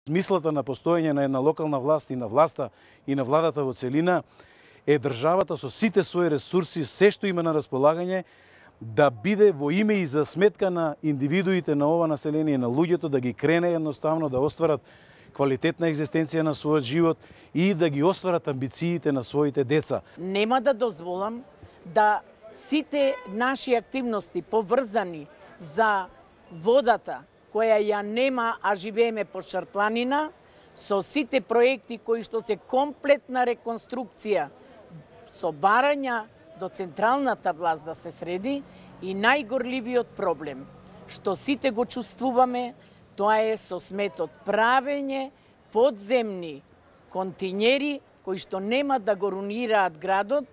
Смислата на постоење на една локална власт и на власта и на владата во целина е државата со сите своји ресурси, се што има на располагање, да биде во име и за сметка на индивидуите на ова население, на луѓето, да ги крене едноставно да остварат квалитетна екзистенција на својот живот и да ги остварат амбициите на своите деца. Нема да дозволам да сите наши активности поврзани за водата, која ја нема, а живееме по Шарпланина, со сите проекти кои што се комплетна реконструкција, со барања до централната власт да се среди, и најгорливиот проблем, што сите го чувствуваме, тоа е со сметот правење подземни континери кои што нема да го рунираат градот,